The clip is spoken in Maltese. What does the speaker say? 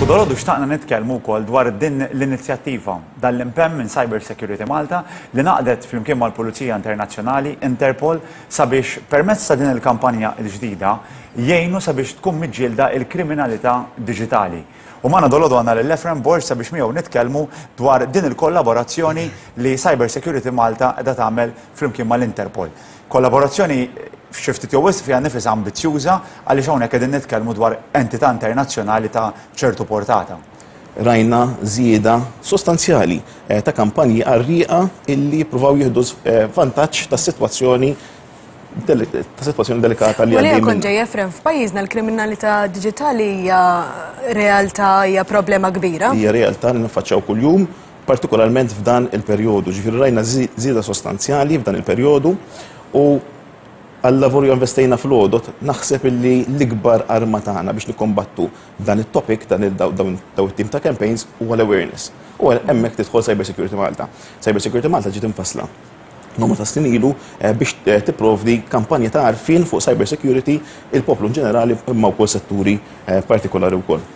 Dalgħodu xtaqna nitkellmu wkoll dwar din l-inizjattiva, dan l-impenn minn Cyber Security Malta li ngħaqdet flimkien mal-Pulizija Internazzjonali, Interpol, sabiex permezz ta' din il-kampanja l-ġdida jgħinu sabiex tkun miġġielda l-kriminalità diġitali. U magħna dalgħodu għandna lil Efrem Borg sabiex miegħu nitkellmu dwar din il-kollaborazzjoni li Cyber Security Malta qiegħda tagħmel flimkien mal-Interpol. Kollaborazzjoni xi ftit jew wisq fiha nnifisha ambizzjuża għaliex hawnhekk qegħdin nitkellmu dwar entità internazzjonali ta' ċertu portata. Rajna żieda sostanzjali ta' kampanji qarrieqa illi jippruvaw jieħdu vantaġġ tas-sitwazzjoni ta' sitwazzjoni delikata li għaddejjin. Kont ġej Efrem, f'pajjiżna l-kriminalità diġitali hija realtà, hija problema kbira. Hija realtà li niffaċċjaw kuljum, partikolarment f'dan il-perjodu. Ġifieri rajna żieda sostanzjali f'dan il-perjodu u għal-lavur investejna fl-għodot, naħseb illi l-ikbar arma tagħna biex nikkombattu dan it-topic, dan dawn it-tim ta' campaigns huwa l-awareness. U hemmhekk tidħol Cyber Security Malta. Cyber Security Malta ġiet infassla numru ta' snin ilu biex tipprovdi kampanja ta' għarfien fuq cyber security il-poplu in ġenerali imma wkoll setturi partikolari wkoll.